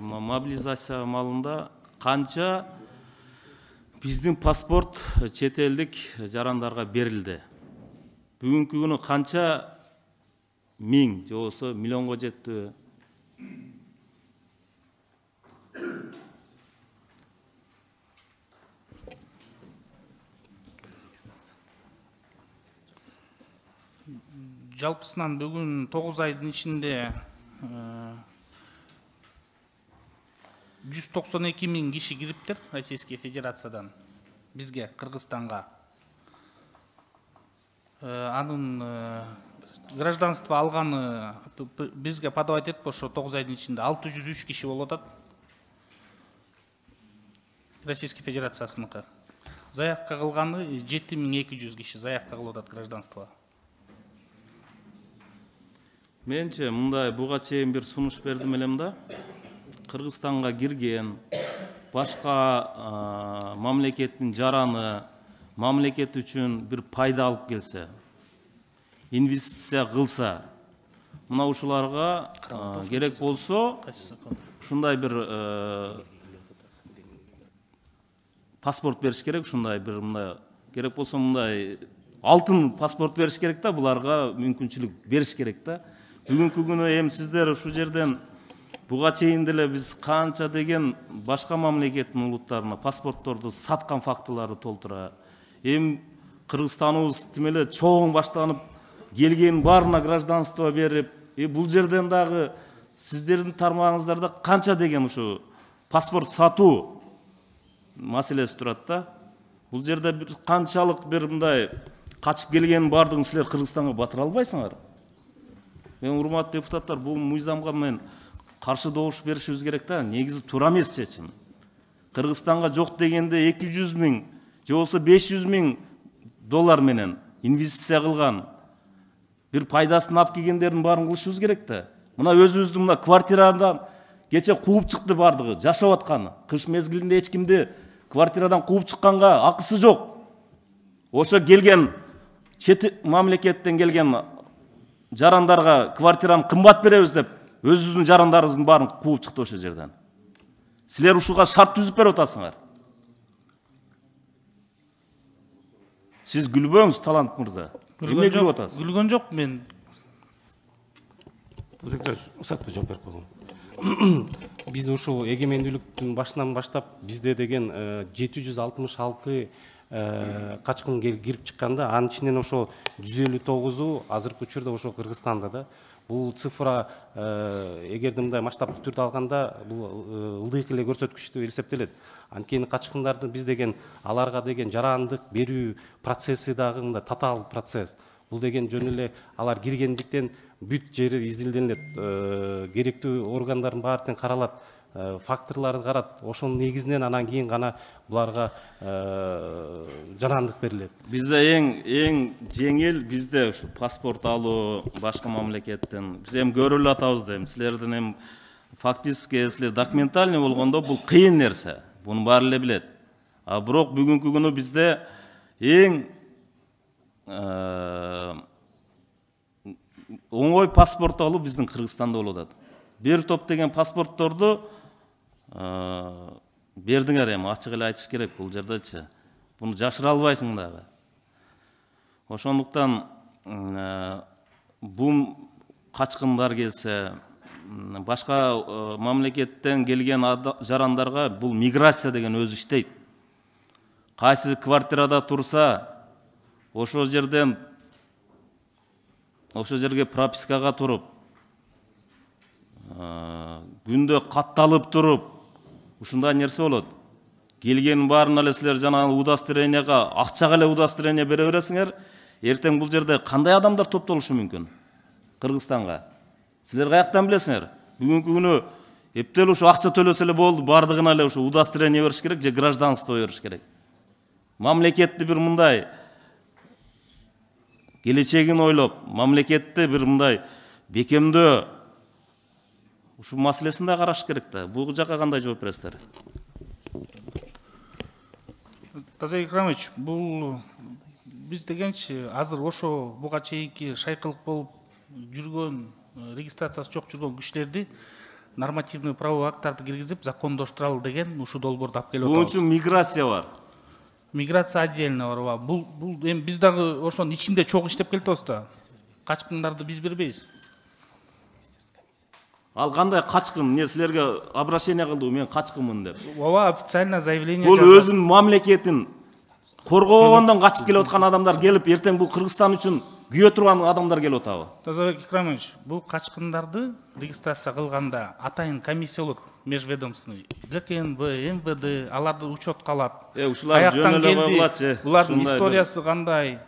мобилизация маалында канча биздин паспорт чет элдик жарандарга берилди? Бүгүнкү күнү канча миң же болбосо миллионго жетти? Жалпысынан бүгүн 9 айдын ичинде 192 миң киши кириптир Российской Федерациядан бизге, Кыргызстанга. Анын гражданство алганы бизге подавать этип ошо 9 айдын ичинде 603 киши болуп атат. Российской Федерациясыныкы. Заявка кылганы 7200 киши заявка кылып атат гражданствого. Менче мындай буга чейин бир сунуш бердим элем да. Кыргызстанга кирген башка мамлекеттин жараны мамлекет үчүн бир пайда алып келсе, инвестиция кылса, мына ушуларга керек болсо ушундай бир паспорт бериш керек, ушундай бир мындай керек болсо мындай алтын паспорт бериш керек да, буларга мүмкүнчүлүк бериш керек да. Бүгүнкү күнү эми сиздер ушул жерден буга чейин деле биз канча деген башка мамлекеттин улуттарына паспортторду саткан фактылары толтура. Эми Кыргызстаныбыз тим эле чоң баштанып келген баарына гражданство берип, бул жерден дагы сиздердин тармагыңыздарда канча деген ушу паспорт сатуу маселеси турат да. Бул жерде бир канчалык бир мындай качып келгенин баардыгын силер Кыргызстанга батыра албайсыңар. Мен урматтуу депутаттар, бул мыйзамга мен каршы добуш беришибиз керек да. Негизи туура эмес чечим. Кыргызстанга жок дегенде 200 миң же болбосо 500 миң доллар менен инвестиция кылган бир пайдасын алып келгендердин баарын кылышыбыз керек да. Мына өзүбүздүн мына квартирадан кече кууп чыкты баардыгы, жашап аткан. Кыш мезгилинде эч кимди квартирадан кууп чыкканга акысы жок. Ошо келген чет мамлекеттен келген жарандарга квартираны кымбат беребиз деп, өзүбүздүн жарандарыбыздын баарын кууп чыкты ошол жерден. Силер ушуга шарт түзүп берип атасыңар. Сиз күлбөңүз, Талант мырза. Эмне күлүп атасыз? Күлгөн жок мен. Усатпай жооп берип койгом. Биз ушул эгемендүүлүктүн башынан баштап бизде деген 766 качкын кирип чыкканда, анын ичинен ошо 159у азыркы учурда ошо Кыргызстанда да. Бул цифра эгерде мындай масштабтуу түрдө алганда бул ылдыйк эле көрсөткүч деп эсептелет. Анткени качкындарды биз деген аларга деген жарандык берүү процесси дагы мындай татаал процесс. Бул деген жөн эле алар киргендиктен бүт жери изилденет, керектүү органдардын баары тең каралат, факторлорду карат, ошонун негизинен анан кийин гана буларга жарандык берилет. Бизде эң жеңил бизде ушу паспорт алуу башка мамлекеттен. Биз эми көрүп эле атабыз да, силердин эми фактически силер документальный болгондо бул кыйын нерсе. Буну баары эле билет. А бирок бүгүнкү күнү бизде эң оңой паспорт алуу биздин Кыргызстанда болуп атат. Бир топ деген паспортторду бердиңер, эми ачык эле айтыш керек бул жердечи. Буну жашыра албайсың дагы. Ошондуктан бул качкындар келсе, башка мамлекеттен келген жарандарга бул миграция деген өзү иштейт. Кайсы квартирада турса, ошол жерден ошол жерге пропискага туруп, күндө катталып туруп, ушундай нерсе болот. Келгенин баарын эле силер жана удостоверенияга акчага эле удостоверение бере бересиңер. Эртең бул жерде кандай адамдар топтолушу мүмкүн? Кыргызстанга. Силер каяктан билесиңер? Бүгүнкү күнү эптел ушу акча төлөсө эле болду, бардыгына эле ушу удостоверение бериш керек же гражданство бериш керек. Мамлекетти бир мындай келечегин ойлоп, мамлекетти бир мындай бекемдөө ушу маселесин да караш керек да. Бул жака кандай жооп бересиздер? Таза Икрамович, бул биз дегенчи азыр ошо буга чейинки шайкылык болуп жүргөн, регистрациясы жок жүргөн кишилерди нормативный правовой акттарды киргизип закондоштуралы деген ушул долбоорду алып келип Бунун атабыз. үчүн миграция бар. Миграция отдельно бар. Бул эми биз дагы ошонун ичинде чогуу иштеп келатабыз да. Качкындарды биз бербейбиз. Ал кандай качкын? Эмне силерге обращение кылды, мен качкынмын деп. Ооба, официально заявление Бул жазат. өзүнүн мамлекетин коргогондон качып келип аткан адамдар келип, эртең бул Кыргызстан үчүн күйө турган адамдар келип атабы? Тазабек Икрамович, бул качкындарды регистрация кылганда атайын комиссия болот, межведомственный. ГКНБ, МВД, аларды учетко алат. Ушулар жөн эле койгулачы. Булардын историясы кандай?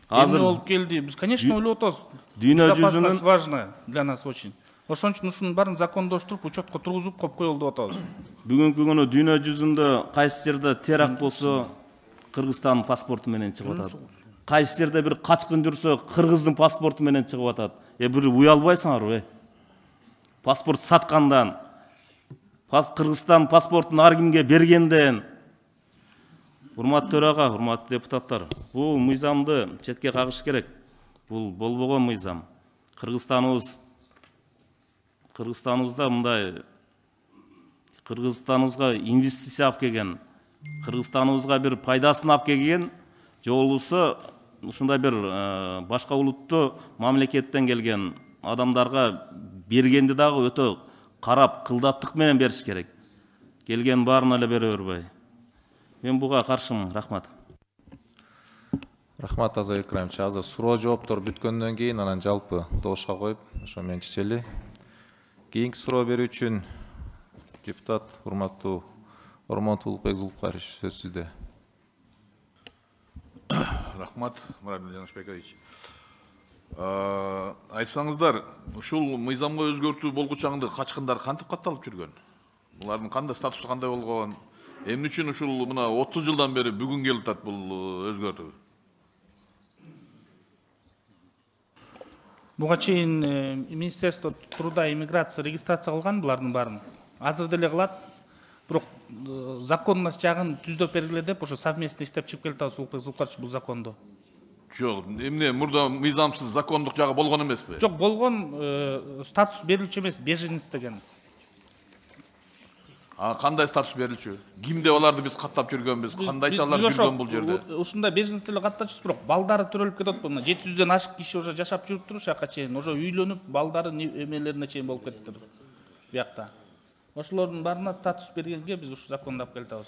Азыр Эмне болуп келди? Биз, конечно, ойлоп атабыз. Дүйнө Безопасность жүзүнүн важно для нас очень. Ошон үчүн ушунун баарын закондоштуруп, учетко тургузуп коюп коелу деп атабыз. бүгүнкү күнү дүйнө жүзүндө кайсы жерде теракт болсо Кыргызстандын паспорту менен чыгып атат. Кайсы жерде бир качкын жүрсө Кыргыздын паспорту менен чыгып атат. Бир уялбайсыңарбы? Паспорт саткандан, Кыргызстан паспортун ар кимге бергенден. Урматтуу төрага, урматтуу депутаттар, бул мыйзамды четке кагыш керек. Бул болбогон мыйзам. Кыргызстаныбызда мындай Кыргызстаныбызга инвестиция алып келген, Кыргызстаныбызга бир пайдасын алып келген, же болбосо ушундай бир башка улуттуу мамлекеттен келген адамдарга бергенди дагы өтө карап, кылдаттык менен бериш керек. Келген баарын эле бере бербей. Мен буга каршымын. Рахмат. Рахмат, Тазабек Икрамович. Азыр суроо жооптор бүткөндөн кийин анан жалпы добушка коюп, ошо менен чечели. Кийинки суроо берүү үчүн депутат урматтуу Ормонов Улукбек Зулукбаевич, сөз сизде. Рахмат, Мурат Жанышбекович. Айтсаңыздар, ушул мыйзамга өзгөртүү болгучаңды качкындар кантип катталып жүргөн? Булардын кандай статусу кандай болгон? Эмне үчүн ушул мына 30 жылдан бери бүгүн келип атат бул өзгөртүү? Буга чейин Министерство труда и миграции регистрация кылган булардын баарын. Азыр деле кылат. Бирок законность жагын түздөп бергиле деп ошо совместно иштеп чыгып келатабыз Улукбек Зулукбаевич бул законду. Жок, эмне мурда мыйзамсыз закондук жагы болгон эмеспи? Жок, болгон статус берилчү эмес, беженец деген. Кандай статус берилчү? Кимде аларды биз каттап жүргөнбүз? Кандайча алар жүргөн бул жерде? Ушундай беженец эле каттачыбыз, бирок балдары төрөлүп кетип атпы? Мына 700дөн ашык киши уже жашап жүрүптүр ушака чейин, уже үйлөнүп, балдары эмелерине чейин болуп кетиптир буякта. Ошолордун баарына статус бергенге биз ушу законду алып келатабыз.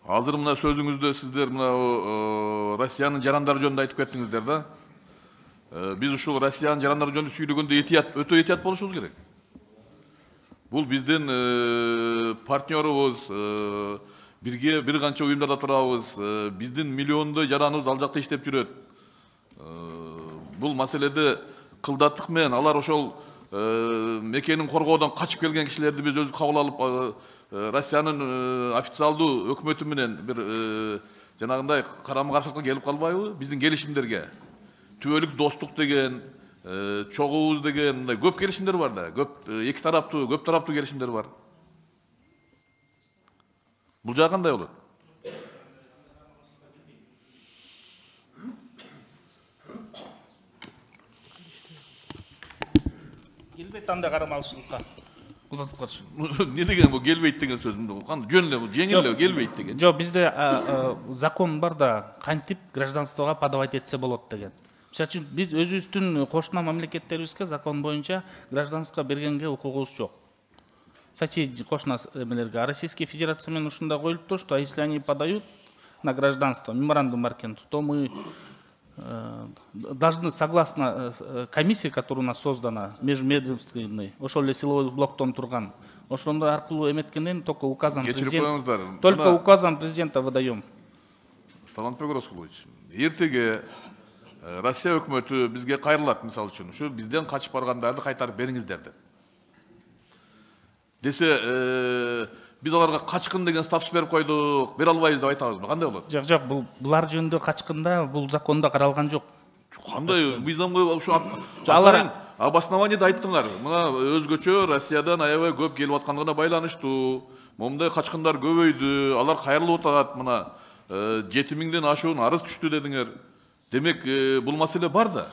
Азыр мына сөзүңүздө сиздер мына Россиянын жарандары жөнүндө айтып кеттиңиздер да. Биз ушул Россиянын жарандары жөнүндө сүйлөгөндө өтө этият болушубуз керек. Бул биздин партнерубуз, бирге бир канча уюмдарда турабыз, биздин миллиондой жараныбыз ал жакта иштеп жүрөт. Бул маселеде кылдаттык менен алар ошол мекенин коргоодон качып келген кишилерди биз өзү кабыл алып, Россиянын официалдуу өкмөтү менен бир жанагындай карама-каршылыкка келип калбайбы? Биздин келишимдерге түбөлүк достук деген, чогуубуз деген мындай көп келишимдер бар да. Эки тараптуу, көп тараптуу келишимдер бар. Бул жагы кандай болот? Келбейт андай карамалчылыкка. Не деген бул келбейт деген сөз? Жөн эле, жеңил эле келбейт деген. Жок, бизде закон бар да, кантип гражданствого подавать этсе болот деген. Мисалы үчүн биз өзүбүздүн кошуна мамлекеттерибизге закон боюнча гражданство бергенге укугубуз жок. Соседи кошуна эмелерге Российская Федерация менен ушундай коюлуптур, что если они подают на гражданство, меморандум бар экен, то мы должны согласно комиссии, которая у нас создана, межведомственный, ошол эле силовой блоктон турган, ошондой аркылуу эметкенден только указом президента, только указом президента выдаем. Талантбек Расулович, эртеге Россия өкмөтү бизге кайрылат, мисалы үчүн, ушу бизден качып баргандарды кайтарып бериңиздер деп. Десе, биз аларга качкын деген статус берип койдук, бере албайбыз деп айтабызбы? Кандай болот? Жок, жок, булар жөнүндө качкында бул закондо каралган жок. Кандай мыйзамга ушу алар обоснованиеде айттыңар. Мына өзгөчө Россиядан аябай көп келип аткандыгына байланыштуу. Момундай качкындар көбөйдү, алар кайрылып атат, мына 7000ден ашуун арыз түштү дедиңер. Демек, бул маселе бар да.